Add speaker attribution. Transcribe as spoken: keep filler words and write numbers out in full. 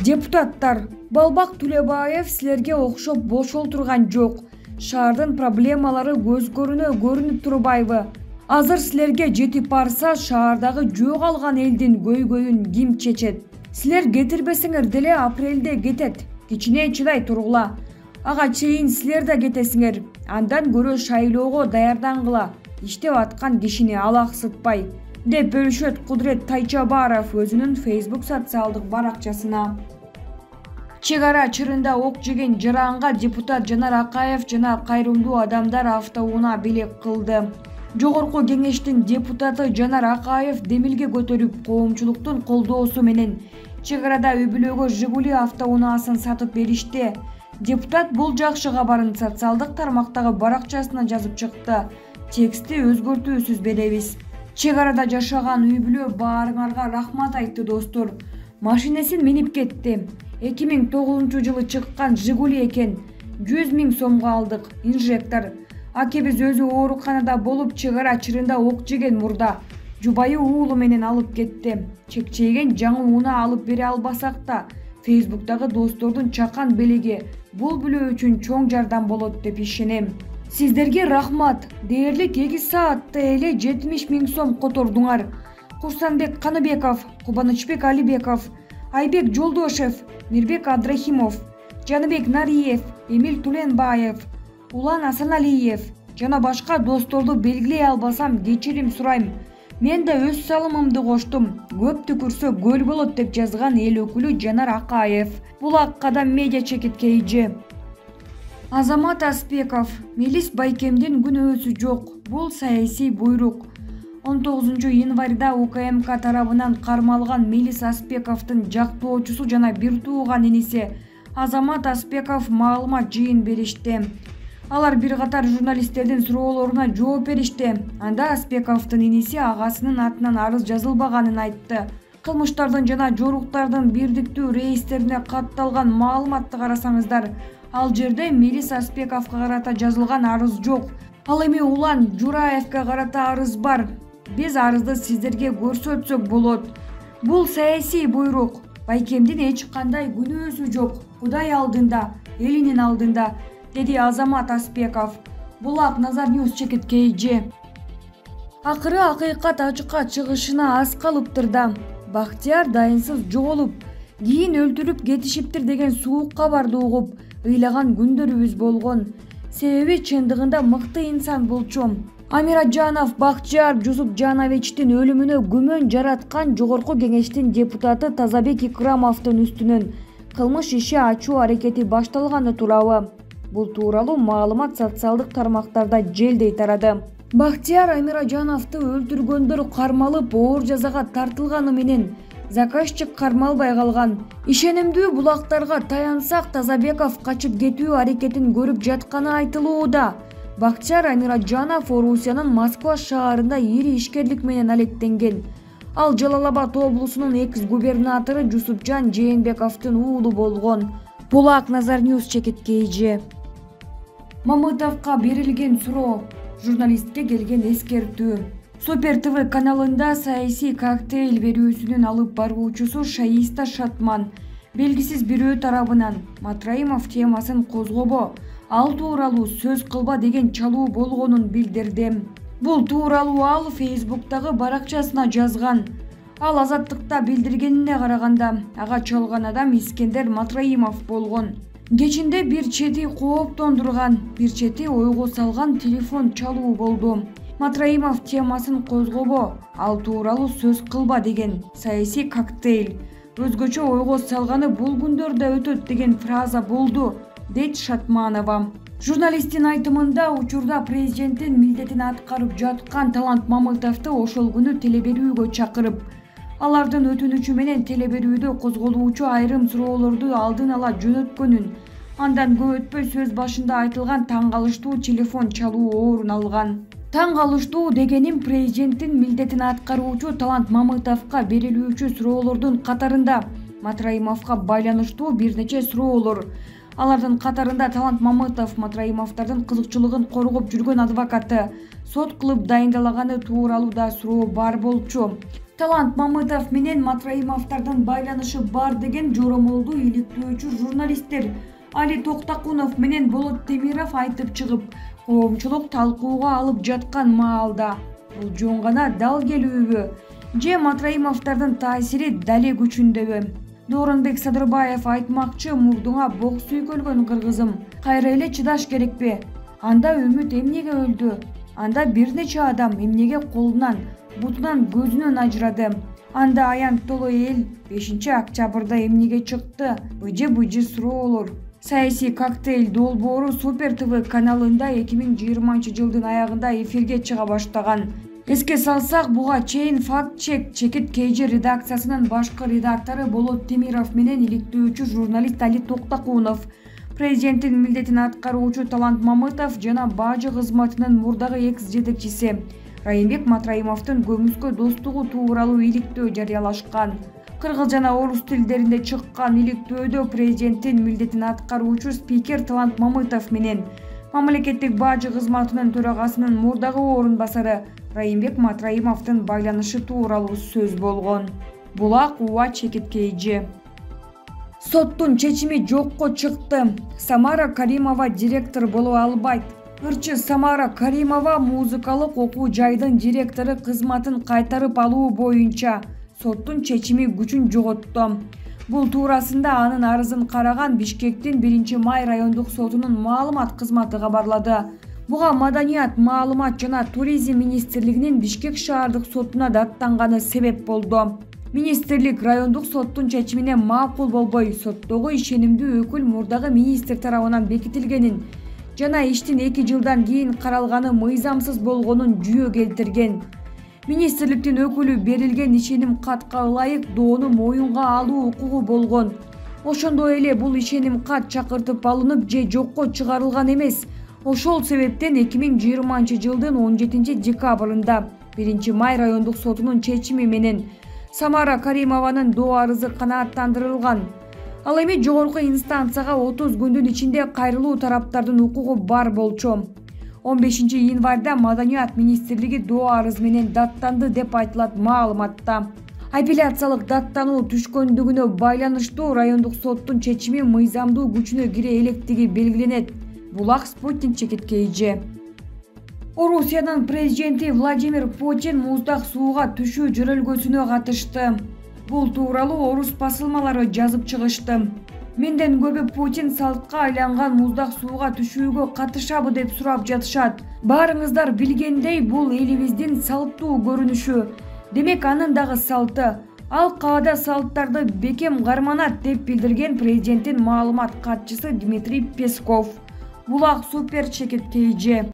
Speaker 1: Депутаттар, Балбак Тулебаев силерге окшоп бошол турган жок. Шаардын проблемалары көз көрүнө көрүнүп турбайбы? Азыр силерге жетип барса, шаардагы жөө калган элдин көйгөйүн ким чечет? Силер кетирбесеңер деле апрелде кетет. Кичине чыдай тургула. Ага чейин силер да кетесиңер. Андан көрө шайлоого даярдангыла. Иштеп аткан кишини алаксытпай, деп бөлүшөт Кудрет Тайчабаров өзүнүн Facebook социалдык баракчасына. Чек ара чырында ок жеген жаранга депутат Жанар Акаев жана кайрымдуу адамдар автоунаа белек кылды. Жогорку кеңештин депутаты Жанар Акаев демилге көтөрүп, коомчулуктун колдоосу менен чек арада үй-бүлөгө Жигули автоунаасын сатып беришти. Депутат бул жакшы кабарын социалдык тармактагы баракчасына жазып чыкты. Тексти өзгөртүүсүз беребиз. Чек арада жашаган үй-бүлө баарыңарга рахмат айтты достор. Машинесин минип кетти. эки миң тогузунчу жылы чыккан Жигули экен. жүз миң сомго алдык. Инжектор. Акебиз өзү ооруканада болуп чек ара чырында ок жеген мурда. Жубайы уулу менен алып кетти. Чекчейген жаңы унаа алып бере албасак да, Facebook'тагы достордун чакан белеги бул бүлө үчүн чоң жардам болот деп ишенем. Сиздерге рахмат. Дээрлик эки саатта эле жетимиш миң сом котордуңар. Курсанбек Каныбеков, Кубанычбек Алибеков, Айбек Жолдошев, Мирбек Абдрахимов, Жаныбек Нариев, Эмил Туленбаев, Улан Асаналиев жана башка досторду белгилей албасам кечирим сурайм. Мен да өз салымымды коштум. Көп түкүрсө көл болот деп жазган эл өкүлү Жанар Акаев. Булак Кадам медиа чекиткейжи. Азамат Аспеков. Мелис Байкемдин күнөөсү жок. Бул саясий буйрук. он тогузунчу январда УКМК тарабынан кармалган Мелис Аспековдун жактоочусу жана бир тууган иниси Азамат Аспеков маалымат жыйын беришти. Алар бир катар журналисттердин суроолоруна жооп беришти. Анда Аспековдун иниси агасынын атынан арыз жазылбаганын айтты. Кылмыштардын жана жоруктардын бирдиктүү рейстерине катталган маалыматты карасаңыздар, ал жерде Мелис Аспековго карата жазылган арыз жок. Ал эми Улан Жураевге карата арыз бар. Биз арызды сиздерге көрсөтсөк болот. Бул саясий буйрук. Байкемдин эч кандай күнөөсү жок. Кудай алдында, элинин алдында, деди Азамат Аспеков. Булак Назар Ньюс чекиткейжи. Акыры акыйкат ачыкка чыгышына аз калыптыр да. Бактияр дайынсыз жоголуп, кийин өлтүрүп кетишиптир деген суук кабарды угуп, ыйлаган күндөрүбүз болгон. Себеби чындыгында мыкты инсан болчу. Амираджанов Бактияр Жусупжановичтин өлүмүнө күмөн жараткан жогорку кеңештин депутаты Тазабек Икрамовдун үстүнөн кылмыш иши ачуу аракети башталганы туурабы? Бул тууралуу маалымат социалдык тармактарда желдей тарады. Бактияр Амираджановду өлтүргөндөр кармалып, оор жазага тартылганы менен заказчик кармалбай калган. Ишенимдүү булактарга таянсак, Тазабеков качып кетүү аракетин көрүп жатканы айтылууда. Бактияр Амираджанов Орусиянын Москва шаарында ири ишкерлик менен алектенген. Ал Жалал-Абад облусунун экс-губернатору Жусупжан Жээнбековдун уулу болгон. Булак Назар Ньюс чекиткейжи. Мамытовго берилген суроо. Журналистке келген эскертүү. Супер ТВ каналында саясий коктейль берүүсүнүн алып баруучусу Шаиста Шатман белгисиз бирөө тарабынан Матраимов темасын козгобо, ал тууралуу сөз кылба деген чалуу болгонун билдирди. Бул тууралуу ал Facebook'тагы баракчасына жазган. Ал Азаттыкта билдиргенине караганда, ага чалган адам Искендер Матраимов болгон. Кечинде бир чети кооптондурган, бир чети ойго салган телефон чалуу болду. Матраимов темасын козгобо, ал тууралуу сөз кылба деген саясий коктейль. Өзгөчө ойго салганы бул күндөрдө өтөт деген фраза болду, дейт Шатманова. Журналисттин айтымында учурда президенттин милдетин аткарып жаткан Талант Мамытовду ошол күнү телеберүүгө чакырып, алардын өтүнүчү менен телеберүүдө козголуучу айрым суроолорду алдын ала жөнөткөнүн, андан көп өтпөй сөз башында айтылган таң калыштуу телефон чалуу орун алган. Таң калыштуу дегеним президенттин милдетин аткаруучу Талант Мамытовго берилүүчү суроолордун катарында Матраимовго байланыштуу бир нече суроолор. Алардын катарында Талант Мамытов Матраимовдордун кызыкчылыгын коргоп жүргөн адвокаты, сот кылып дайындалаганы тууралуу да суроо бар болчу. Талант Мамытов менен Матраимовдордун байланышы бар деген жоромолду иликтөөчү журналисттер Али Токтакунов менен Болот Темиров айтып чыгып, коомчулук талкууга алып жаткан маалда бул жөн гана дал келүүбү же Матраимовдордун таасири дале күчүндөбү? Дооронбек Садырбаев айтмакчы, мурдуңа бок сүйкөлгөн кыргызым, кайра эле чыдаш керекпи? Анда үмүт эмнеге өлдү? Анда бир нече адам эмнеге колунан, бутунан, көзүнөн ажырады? Анда аянттоло эл бешинчи октябрда эмнеге чыкты? Быжы-быжы суроолор. Саясий коктейль долбоору Супер ТВ каналында эки миң жыйырманчы жылдын аягында эфирге чыга баштаган. Эске салсак, буга чейин факт-чек Чекит КЖ редакциясынын башкы редактору Болот Темиров менен иликтөөчү журналист Али Токтакунов, президенттин милдетин аткаруучу Талант Мамытов жана бажы кызматынын мурдагы экс жетекчиси Райымбек Матраимовдун көмүскө достугу тууралуу иликтөө жарыялашкан. Кыргыз жана орус тилдеринде чыккан иликтөөдө президенттин милдетин аткаруучу спикер Талант Мамытов менен мамлекеттик бажы кызматынын төрагасынын мурдагы орун басары Райымбек Матраимовдун байланышы тууралуу сөз болгон. Булак УА Чекит КЖ. Соттун чечими жокко чыкты. Самара Каримова директор боло албайт. Ырчы Самара Каримова музыкалык окуу жайдын директору кызматын кайтарып алуу боюнча соттун чечими күчүн жоготту. Бул туурасында анын арызын караган Бишкектин биринчи май райондук сотунун маалымат кызматы кабарлады. Буга Маданият, маалымат жана туризм министрлигинин Бишкек шаардык сотуна даттанганы себеп болду. Министрлик райондук соттун чечимине макул болбой, соттогу ишенимдүү өкүл мурдагы министр тарабынан бекитилгенин жана иштин эки жылдан кийин каралганы мыйзамсыз болгонун жүйө келтирген. Министрликтин өкүлү берилген ишеним катка ылайык доону моюнга алуу укугу болгон. Ошондой эле бул ишеним кат чакыртып алынып же жокко чыгарылган эмес. Ошол себептен эки миң жыйырманчы жылдын он жетинчи декабрында биринчи май райондук сотунун чечими менен Самара Каримованын доо арызы канааттандырылган. Ал эми жогорку инстанцияга отуз күндүн ичинде кайрылуу тараптардын укугу бар болчу. он бешинчи январда Маданият министрлиги доо арыз менен даттанды деп айтылат маалыматта. Апелляциялык даттануу түшкөндүгүнө байланыштуу райондук соттун чечими мыйзамдуу күчүнө кире электиги белгиленет. Булак Спутник Чекит КЖ. Орусиянын президенти Владимир Путин муздак сууга түшүү жөрөлгөсүнө катышты. Бул тууралуу орус басылмалары жазып чыгышты. Менден көбү Путин салтка айланган муздак сууга түшүүгө катышабы деп сурап жатышат. Баарыңыздар билгендей, бул элибиздин салттуу көрүнүшү. Демек анын дагы салты. Ал каада салттарды бекем карманат деп билдирген президенттин маалымат катчысы Дмитрий Песков. Булак Супер Чекит КЖ.